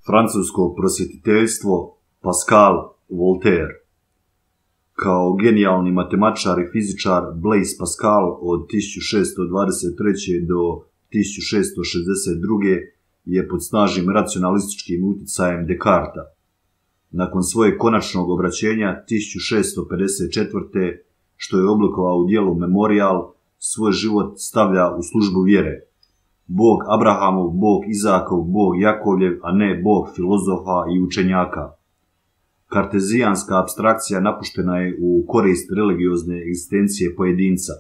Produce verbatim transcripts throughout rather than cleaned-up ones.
Francusko prosvjetiteljstvo Pascal Voltaire. Kao genijalni matematičar i fizičar Blaise Pascal od tisuću šessto dvadeset treće. do tisuću šessto šezdeset druge. je pod snažnim racionalističkim utjecajem Descartesa. Nakon svojeg konačnog obraćenja tisuću šessto pedeset četvrte. što je oblikovao u djelu Memorial, svoj život stavlja u službu vjere. Bog Abrahamov, Bog Izakov, Bog Jakovljev, a ne Bog filozofa i učenjaka. Kartezijanska apstrakcija napuštena je u korist religiozne egzistencije pojedinca.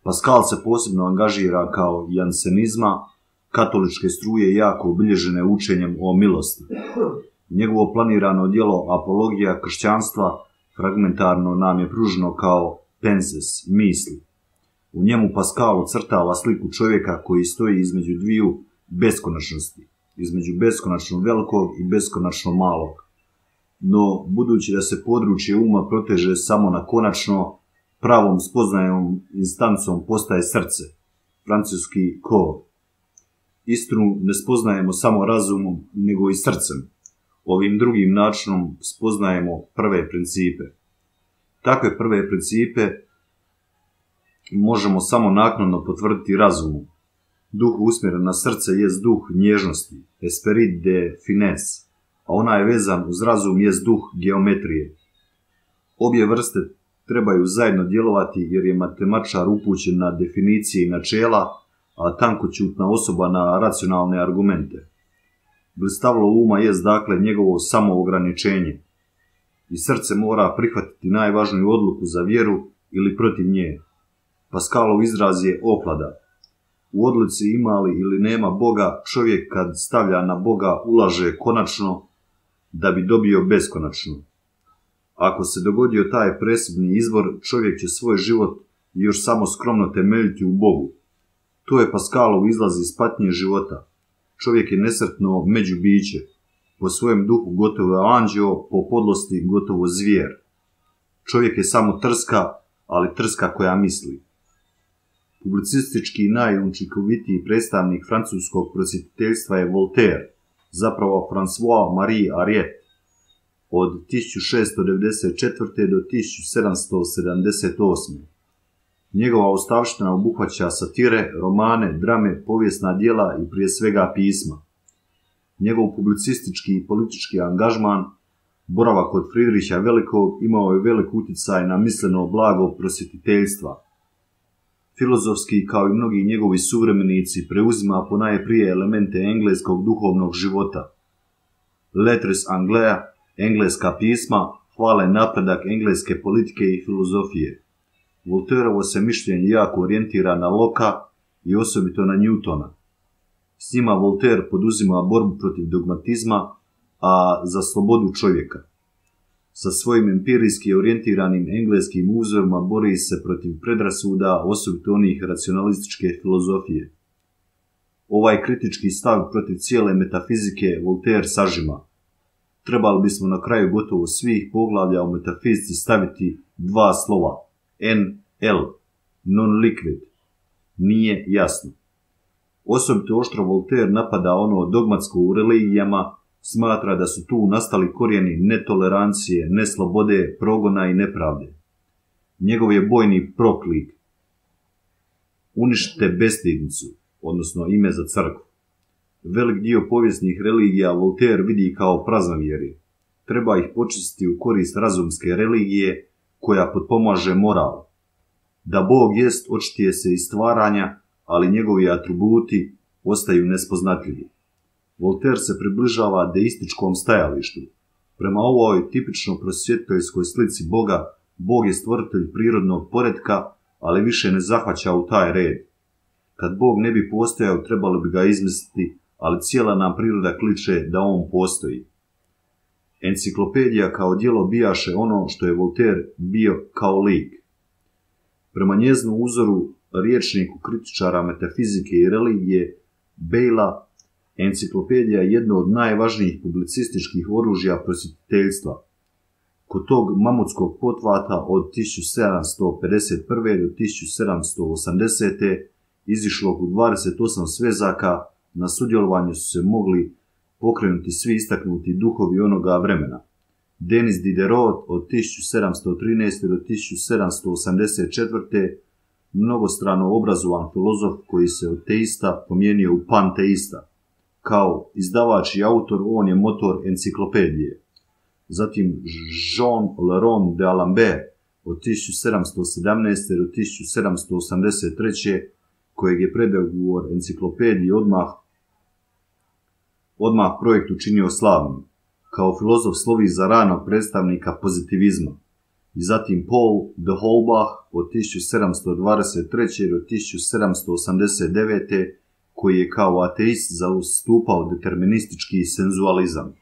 Pascal se posebno angažira kao jansenizma, katoličke struje jako obilježene učenjem o milosti. Njegovo planirano djelo Apologija kršćanstva fragmentarno nam je pruženo kao penses, misli. U njemu Pascal ocrtava sliku čovjeka koji stoji između dviju beskonačnosti, između beskonačno velikog i beskonačno malog. No, budući da se područje uma proteže samo na konačno, pravom spoznajom instancom postaje srce, francuski cœur. Istinu ne spoznajemo samo razumom, nego i srcem. Ovim drugim načinom spoznajemo prve principe. Takve prve principe možemo samo naknadno potvrditi razumom. Duh usmjeren na srce jest duh nježnosti, esprit de finesse, a ona je vezan uz razum jest duh geometrije. Obje vrste trebaju zajedno djelovati jer je matematičar upućen na definicije i načela, a tankoćutna osoba na racionalne argumente. Blistavlo uma jest dakle njegovo samoograničenje i srce mora prihvatiti najvažniju odluku za vjeru ili protiv nje. Pascalov izraz je oklada. U odluci ima li ili nema Boga, čovjek kad stavlja na Boga ulaže konačno da bi dobio beskonačno. Ako se dogodio taj presudni izbor, čovjek će svoj život još samo skromno temeljiti u Bogu. To je Pascalov izlaz iz patnje života. Čovjek je nesretno međubiće, po svojem duhu gotovo anđeo, po podlosti gotovo zvijer. Čovjek je samo trska, ali trska koja misli. Publicistički najučinkovitiji predstavnik francuskog prosvjetiteljstva je Voltaire, zapravo François Marie Ariet, od tisuću šessto devedeset četvrte. do tisuću sedamsto sedamdeset osme. Njegova ostavština obuhvaća satire, romane, drame, povijesna djela i prije svega pisma. Njegov publicistički i politički angažman, boravak kod Friedricha Velikog, imao je velik utjecaj na misleno blago prosvjetiteljstva. Filozofski, kao i mnogi njegovi suvremenici, preuzima ponajprije elemente engleskog duhovnog života. Lettres Anglais, engleska pisma, hvale napredak engleske politike i filozofije. Voltaireovo se mišljenje jako orijentira na Locka i osobito na Newtona. S njima Voltaire poduzima borbu protiv dogmatizma, a za slobodu čovjeka. Sa svojim empirijski orijentiranim engleskim uzorima bori se protiv predrasuda, osobito onih racionalističke filozofije. Ovaj kritički stav protiv cijele metafizike Voltaire sažima. Trebali bismo na kraju gotovo svih poglavlja o metafizici staviti dva slova. N L, non-liquid, nije jasno. Osobito oštro Voltaire napada ono dogmatsko u religijama, smatra da su tu nastali korijeni netolerancije, neslobode, progona i nepravde. Njegov je bojni proklik: uništite bestidnicu, odnosno ime za crkvu. Velik dio povijesnih religija Voltaire vidi kao praznovjerje. Treba ih počistiti u korist razumske religije koja potpomaže moral. Da Bog jest očitije se iz stvaranja, ali njegovi atributi ostaju nespoznatljivi. Voltaire se približava deističkom stajalištu. Prema ovoj tipično prosvjetiteljskoj slici Boga, Bog je stvoritelj prirodnog poretka, ali više ne zahvaća u taj red. Kad Bog ne bi postojao, trebalo bi ga izmisliti, ali cijela nam priroda kliče da on postoji. Enciklopedija kao djelo bijaše ono što je Voltaire bio kao lik. Prema njeznu uzoru, rječniku kritičara metafizike i religije Bejla, enciklopedija je jedno od najvažnijih publicističkih oružja prosvjetiteljstva. Kod tog mamutskog pothvata od tisuću sedamsto pedeset prve. do tisuću sedamsto osamdesete. izišlo u dvadeset osam svezaka, na sudjelovanju su se mogli pokrenuti svi istaknuti duhovi onoga vremena. Denis Diderot od tisuću sedamsto trinaeste. do tisuću sedamsto osamdeset četvrte. mnogostrano obrazovan filozof koji se od teista promijenio u panteista. Kao izdavač i autor on je motor enciklopedije. Zatim Jean Leron de Alembert od tisuću sedamsto sedamnaeste. do tisuću sedamsto osamdeset treće. kojeg je predagovor enciklopediji odmah, odmah projekt učinio slavnim. Kao filozof slovi za ranog predstavnika pozitivizma. I zatim Paul de Holbach od tisuću sedamsto dvadeset treće. do tisuću sedamsto osamdeset devete. koji je kao ateist zastupao deterministički senzualizam.